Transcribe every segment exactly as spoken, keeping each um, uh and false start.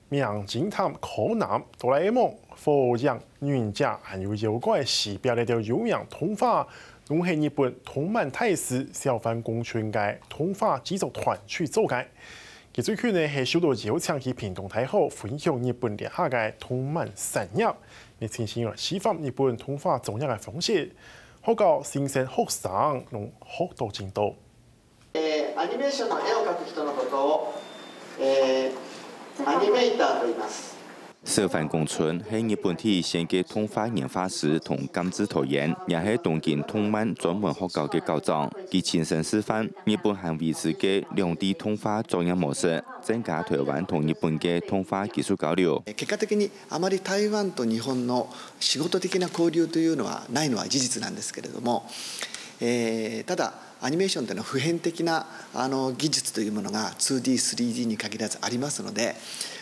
名偵探柯南、哆啦A夢、火影忍者，還有妖怪西北這兜有名動畫，攏係日本動漫大師小范公春个動畫製作團隊做个。佢最近呢係受到邀請去屏東大學分享日本這下个動漫產業，你親身來示範日本動畫作業个方式，學校新生學生攏學到真多。えーアニメーションの絵を描く人のことを、えーアニメーターと言います。小范公春係日本第一線个動畫原畫師同監製導演，也係東京動漫專門學校个校長。佢親身示範日本還維持个兩D動畫作業模式，增加台灣同日本个動畫技術交流。結果的にあまり台湾と日本の仕事的な交流というのはないのは事実なんですけれども、えーただアニメーションというのは普遍的なあの技術というものが ツーディー、スリーディー に限らずありますので、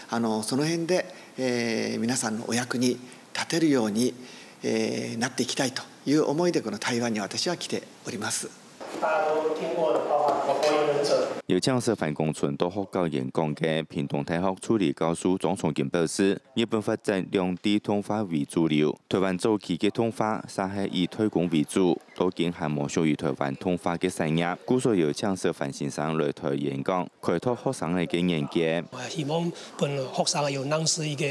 あのその辺で、えー皆さんのお役に立てるように、えーなっていきたいという思いでこの台湾に私は来ております。大家都听过的，包括《火影忍者》。有請小范公春到學校演講个屏東大學助理教授莊崇金表示，日本發展兩D動畫為主流，台灣早期个動畫煞係以代工為主，到今還無屬於台灣動畫个產業，故所有請小范先生來台演講，開拓學生仔个眼界。希望分學生有認識一個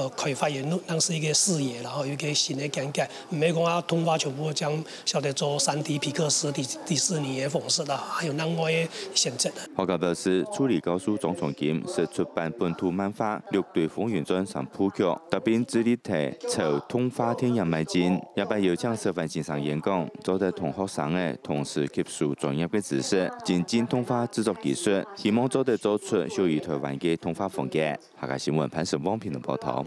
呃開發，有認識一個視野，然後有一個新的眼界。毋係講啊，動畫全部將曉得做三D皮克斯、迪迪士尼个方式啦，還有另外个選擇。學校表示，助理教授莊崇金識出版本土漫畫《六堆風雲傳》三部曲，特別致力在朝動畫電影邁進。這擺有請小范先生演講，做得同學生仔同時吸收專業个知識，精進動畫製作技術，希望做得做出屬於台灣个動畫風格。 客家新聞潘成旺屏東報導。